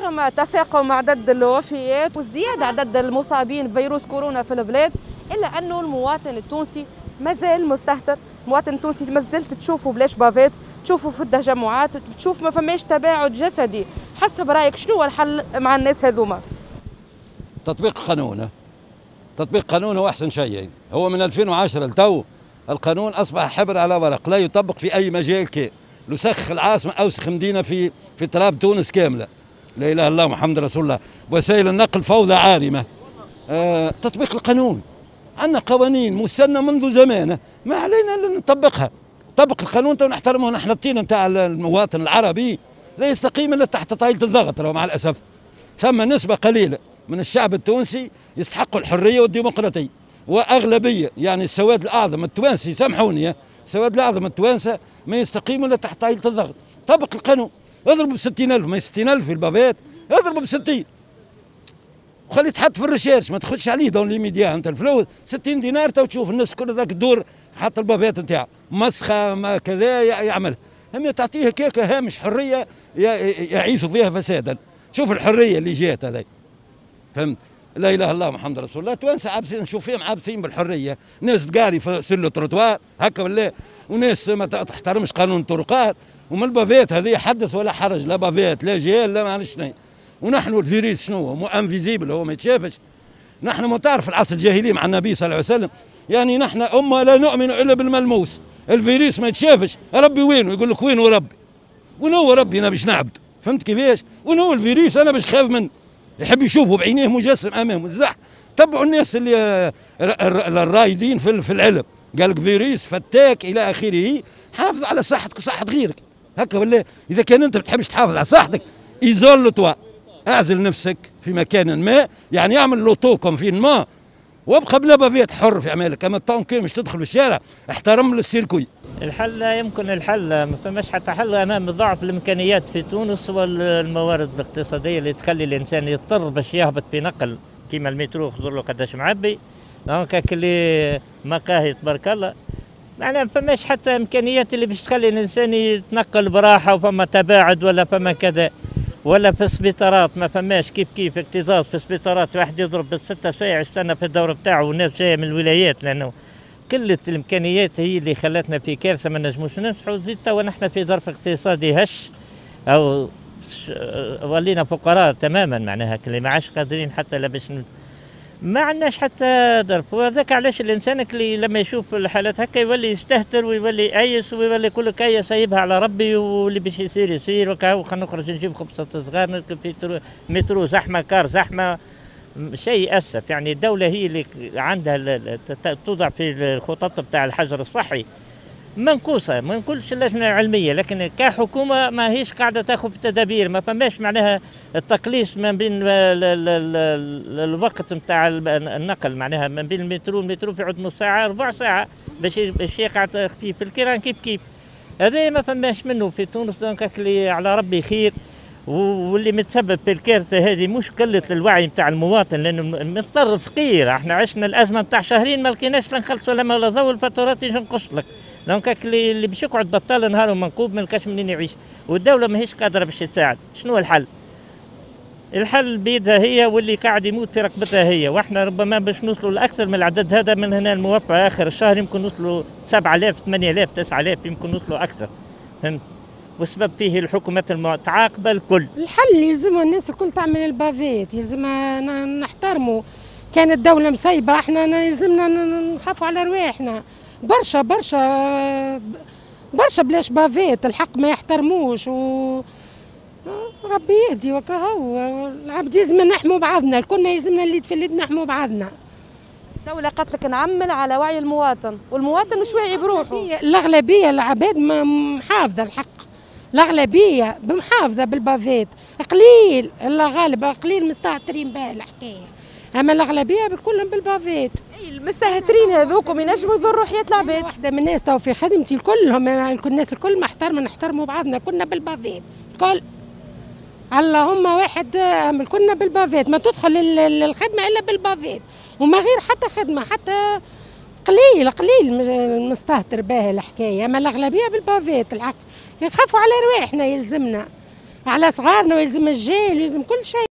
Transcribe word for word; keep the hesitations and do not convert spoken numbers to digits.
رغم تفاقم عدد الوفيات وازدياد عدد المصابين بفيروس كورونا في البلاد، إلا أنه المواطن التونسي مازال مستهتر. المواطن التونسي مازلت تشوفه بلاش bavette، تشوفه في التجمعات، تشوف ما فماش تباعد جسدي. حسب رايك شنو هو الحل مع الناس هذوما؟ تطبيق القانون، تطبيق قانون هو احسن شيء. هو من ألفين وعشرة لتو القانون اصبح حبر على ورق، لا يطبق في اي مجال. كي لسخ العاصمة اوسخ مدينة في في تراب تونس كاملة، لا اله الا الله محمد رسول الله. وسائل النقل فوضى عارمة. آه، تطبيق القانون، عندنا قوانين مسنة منذ زمان، ما علينا الا نطبقها. طبق القانون تو نحترمه نحن. الطين نتاع المواطن العربي لا يستقيم الا تحت طايله الضغط، مع الاسف. ثم نسبه قليله من الشعب التونسي يستحقوا الحرية والديمقراطية، واغلبيه يعني السواد الاعظم التوانسي، سامحوني، السواد الاعظم التوانسة ما يستقيموا الا تحت طايله الضغط. طبق القانون، اضربوا ب ستين ألف، ما ستين ألف في ال bavette، اضربوا ب ستين وخليه يتحط في ال recherche، ما تاخذش عليه dans l'immédiat انت الفلوس ستين دينار تو تشوف الناس كل ذاك الدور حط ال bavette نتاعو مسخه ما كذا يعمل. هم تعطيه كيكة هامش حرية يعيث فيها فسادا. شوف الحرية اللي جات هذه، فهمت؟ لا اله الا الله محمد رسول الله. توانسة عابسين، نشوف فيهم عابسين بالحرية، ناس تقاري في sur le trottoir هكا ولا، وناس ما تحترمش قانون الطرقات. ومن ال bavette هذه حدث ولا حرج، لا bavette لا جيل لا ما عرفش شنو. ونحن الفيروس شنو هو؟ invisible، هو ما يتشافش. نحن ما تعرف العصر الجاهلي مع النبي صلى الله عليه وسلم، يعني نحن امه لا نؤمن الا بالملموس. الفيروس ما يتشافش، ربي وينه؟ يقول لك وينه ربي؟ وين هو ربي انا باش نعبد؟ فهمت كيفاش؟ وين هو الفيروس انا باش خاف منه؟ يحب يشوفه بعينيه مجسم امامه. الزح تبعوا الناس اللي الرايدين في العلم، قال لك فيروس فتاك الى اخره. حافظ على صحتك وصحة غيرك هكا ولا. اذا كان انت ما بتحبش تحافظ على صحتك، isole-toi، اعزل نفسك في مكان ما، يعني اعمل l'auto-confinement وابقى بلا bavette، حر في اعمالك. اما tant que مش تدخل في الشارع، احترم ال circuit. الحل لا يمكن، الحل ما فماش حتى حل امام ضعف الامكانيات في تونس والموارد الاقتصادية اللي تخلي الانسان يضطر باش يهبط في نقل كيما المترو، خذوا له قداش معبي، donc اللي مقاهي تبارك الله. معناها ما فماش حتى امكانيات اللي باش تخلي الانسان يتنقل براحة وفما تباعد ولا فما كذا. ولا في السبيطارات ما فماش كيف كيف اكتظاظ في السبيطارات، واحد يضرب بالستة ساعة يستنى في الدور بتاعه والناس جاية من الولايات، لانه قلة الامكانيات هي اللي خلتنا في كارثة ما نجموش ننجحوا. زيد توا نحن في ظرف اقتصادي هش او ولينا فقراء تماما، معناها اللي ما عادش قادرين حتى لا باش ما عندناش حتى ظرف. وهذاك علاش الانسان اللي لما يشوف الحالات هكا يولي يستهتر ويولي يأيس ويولي يقول لك اي سايبها على ربي واللي باش يصير يصير، وكا خلينا نخرج نجيب خبزة صغار، نركب في مترو زحمة، car زحمة، شيء اسف. يعني الدولة هي اللي عندها توضع في الخطط بتاع الحجر الصحي منقوصه، ما نقولش اللجنة العلمية، لكن كحكومة ما هيش قاعدة تاخذ تدابير، ما فماش معناها التقليص ما بين الوقت نتاع النقل، معناها ما بين المترو والمترو في عود نص ساعة ربع ساعة باش باش يقع تخفيف الكيران كيف كيف. هذا ما فماش منه في تونس، donc اللي على ربي خير. واللي متسبب في الكارثة هذه مش قلة الوعي نتاع المواطن، لانه مضطر فقير. احنا عشنا الازمة نتاع شهرين ما لقيناش لا نخلصوا لا ما ولا ضوء، الفاتورات يجي نقص لك. donc اللي باش يقعد بطال نهار ومنكوب ما لقاش منين يعيش، والدولة ماهيش قادرة باش تساعد. شنو الحل؟ الحل بيدها هي، واللي قاعد يموت في رقبتها هي. واحنا ربما باش نوصلوا لاكثر من العدد هذا من هنا الموفى اخر الشهر يمكن نوصلوا سبعة آلاف ثمانية آلاف تسعة آلاف، يمكن نوصلوا اكثر، فهمت؟ والسبب فيه الحكومات المتعاقبة الكل. الحل يلزموا الناس الكل تعمل ال bavette، يلزمها نحترموا. كان الدولة مسيبه، احنا يلزمنا نخافوا على رواحنا. برشا برشا برشا بلاش bavette، الحق ما يحترموش و ربي يهدي وكهو. العبد يلزم نحموا بعضنا، كلنا يلزمنا اللي في اليد نحموا بعضنا. الدولة قالت لك نعمل على وعي المواطن، والمواطن مش واعي بروحه. الأغلبية العباد محافظة الحق، الأغلبية بمحافظة بال bavette، قليل الله غالب قليل مستهترين بها الحكاية، أما الأغلبية كلهم بال bavette. أي المستهترين هذوكم ينجموا يضروا حياة العباد. واحدة من الناس تو في خدمتي كلهم الناس الكل محترمة، نحترموا بعضنا، كلنا بال bavette الكل. اللهم واحد كنا بال bavette، ما تدخل الخدمة إلا بال bavette، وما غير حتى خدمة، حتى قليل قليل مستهتر بها الحكاية، أما الأغلبية بال bavette الحق. يخافوا على رواحنا يلزمنا. على صغارنا، ويلزم الجيل، ويلزم كل شيء.